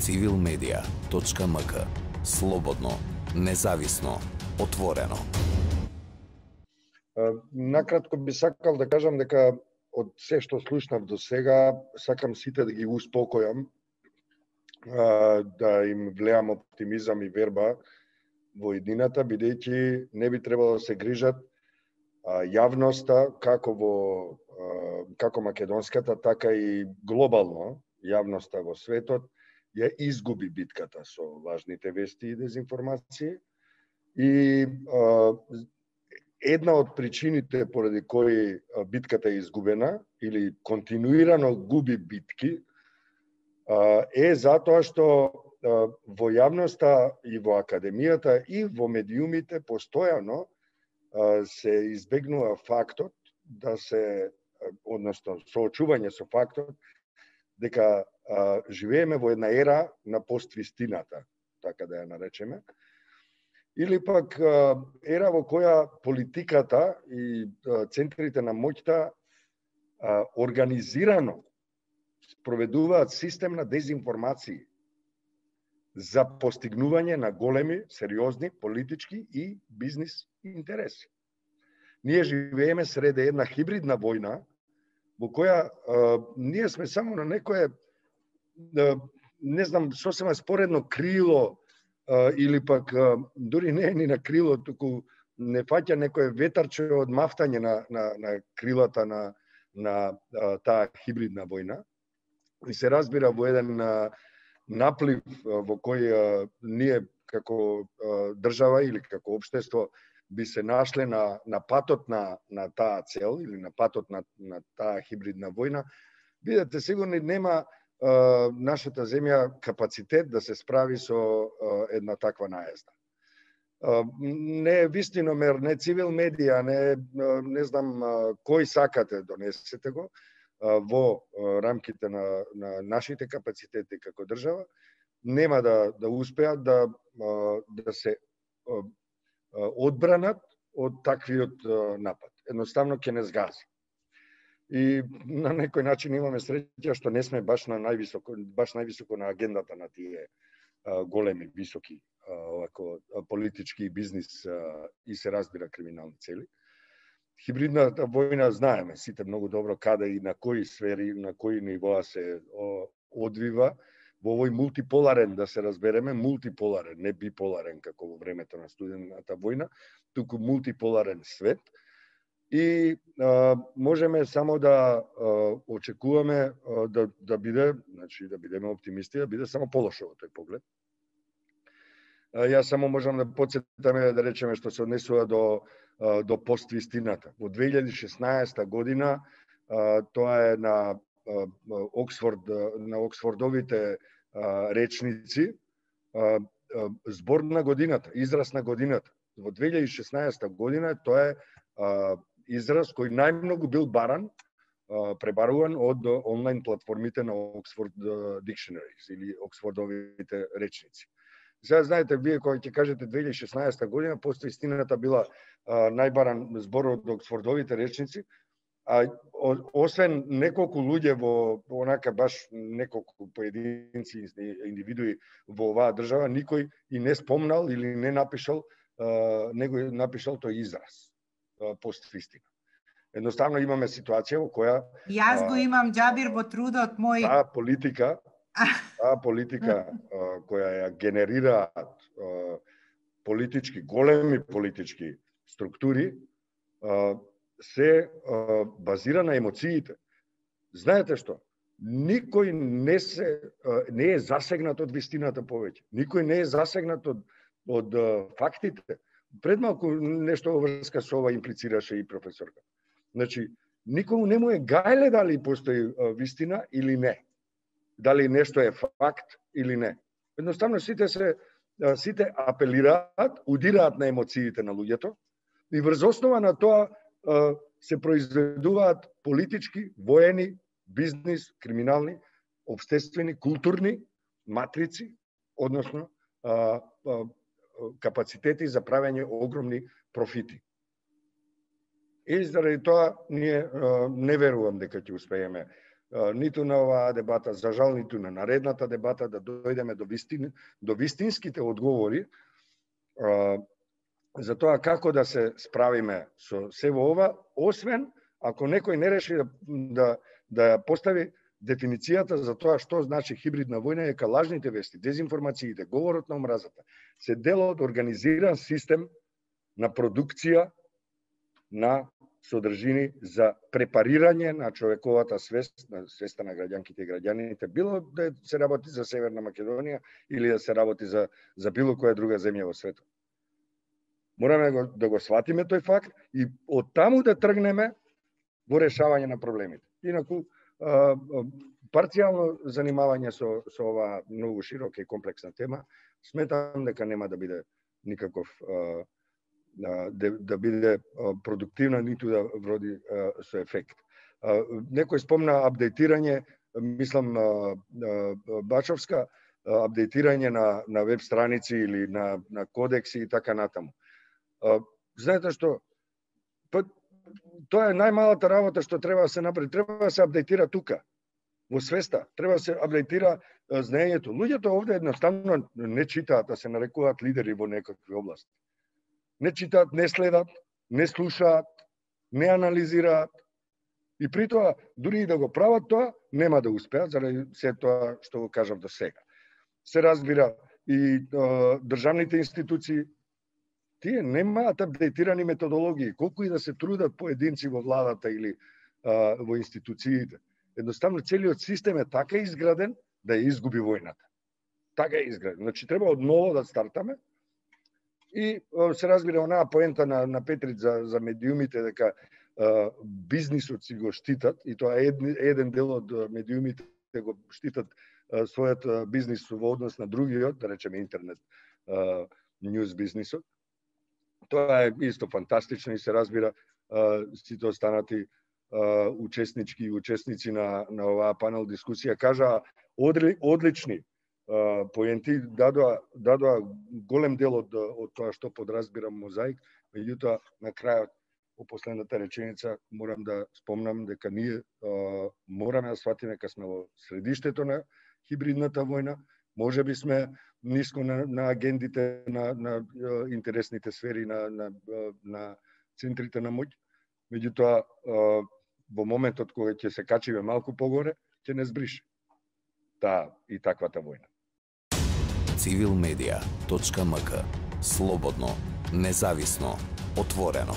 civilmedia.mk. Слободно, независно, отворено. Накратко би сакал да кажам дека од се што слушнав до сега, сакам сите да ги успокојам, да им влеам оптимизам и верба во едината, бидејќи не би требало да се грижат јавноста, како македонската, така и глобално јавноста во светот, ја изгуби битката со лажните вести и дезинформации. И една од причините поради кои битката е изгубена или континуирано губи битки е затоа што во јавноста и во академијата и во медиумите постојано се избегнува фактот да се, односно соочување со фактот дека живееме во една ера на поствистината, така да ја наречеме, или пак ера во која политиката и центрите на моќта организирано спроведуваат систем на дезинформации за постигнување на големи, сериозни политички и бизнис интереси. Ние живееме среде една хибридна војна во која ние сме само на некое, не знам, сосема споредно крило, или пак дури не е ни на крило, туку не фаќа некое ветарче од мафтање на крилата на таа хибридна војна. И се разбира во еден наплив во кој ние како држава или како општество би се нашле на патот на таа цел или на патот на таа хибридна војна, бидете сигурни нема нашата земја капацитет да се справи со една таква наезда. Не вистиномер, не цивил медија, не знам кој сакате, донесете го во рамките на нашите капацитети како држава, нема да успеат да се одбранат од таквиот напад. Едноставно ќе не згази. И на некој начин имаме среќа што не сме баш највисоко на агендата на тие големи, високи политички бизнис и се разбира криминални цели. Хибридната војна знаеме сите многу добро каде и на кои сфери, на кои нивоа се одвива во овој мултиполарен, да се разбереме, мултиполарен, не биполарен како во времето на студената војна, туку мултиполарен свет. И можеме само да очекуваме да биде, значи да бидеме оптимисти, да биде само полошо во тој поглед. Јас само можам да потсетам, да речеме, што се однесува до поствистината. Во 2016 година тоа е на Оксфордовите речници збор на годината, израз на годината. Во 2016 година тоа е израз кој најмногу бил пребаруван од онлайн платформите на Oxford Dictionaries или Оксфордовите речници. Сега знаете, вие кога ќе кажете 2016 година, поствистината била најбаран збор од Оксфордовите речници, а освен неколку луѓе во онака баш неколку поединци индивидуи во оваа држава, никој и не спомнал или не напишал тој израз поствистина. Едноставно имаме ситуација во која Јас го имам, Џабир, во трудот мој. Таа политика која ја генерираат големи политички структури, се базира на емоциите. Знаете што? Никој не е засегнат од вистината повеќе. Никој не е засегнат од фактите. Пред малку нешто во врска со ова имплицираше и професорка. Значи, никому не му е гајле дали постои вистина или не. Дали нешто е факт или не. Едноставно сите апелираат, удираат на емоциите на луѓето и врз основа на тоа се произведуваат политички, воени, бизнис, криминални, општествени, културни матрици, односно капацитети за правење огромни профити. И заради тоа ние не верувам дека ќе успееме ниту на оваа дебата, за жал ниту на наредната дебата, да дојдеме до вистинските одговори за тоа како да се справиме со сево ова, освен ако некој не реши да постави дефиницијата за тоа што значи хибридна војна, дека лажните вести, дезинформациите, говорот на омразата се дел од организиран систем на продукција на содржини за препарирање на човековата свест, на свеста на граѓанките и граѓаните, било да се работи за Северна Македонија или да се работи за било која друга земја во светот. Мораме да го сватиме тој факт и од таму да тргнеме во решавање на проблемите. Инаку, парцијално занимавање со оваа многу широка и комплексна тема, сметам дека нема да биде никаков да биде продуктивна, ниту да вроди со ефект. Некој спомна апдейтирање, мислам Бачовска, апдейтирање на веб страници или на кодекси и така натаму. Знаете што? Тоа е најмалата работа што треба да се направи. Треба да се апдейтира тука, во свеста. Треба да се апдейтира знаењето. Луѓето овде едноставно не читаат, да се нарекуваат лидери во некакви области. Не читаат, не следат, не слушаат, не анализираат. И при тоа, дури и да го прават тоа, нема да успеат, заради се тоа што го кажав до сега. Се разбира и државните институции, тие немаат апдейтирани методологии, колку и да се трудат поединци во владата или во институциите. Едноставно, целиот систем е така изграден да ја изгуби војната. Така е изграден. Значи, треба од ново да стартаме. И се разбира онаа поента на Петрит за медиумите, дека бизнисот си го штитат, и тоа еден дел од медиумите го штитат својот бизнис во однос на другиот, да речеме интернет ньюс бизнисот. Тоа е исто фантастично и се разбира сите останати учесници на оваа панел дискусија кажаа одлични поенти, дадоа голем дел од тоа што подразбирам мозаик, меѓутоа на крајот во последната реченица морам да спомнам дека ние мораме да сватиме дека сме во средиштето на хибридната војна, можеби сме ниско на агендите на интересните сфери на центрите на моќ, меѓутоа во моментот кога ќе се качиме малку погоре, ќе не збрише таа и таквата војна. Civilmedia.mk. Слободно, независно, отворено.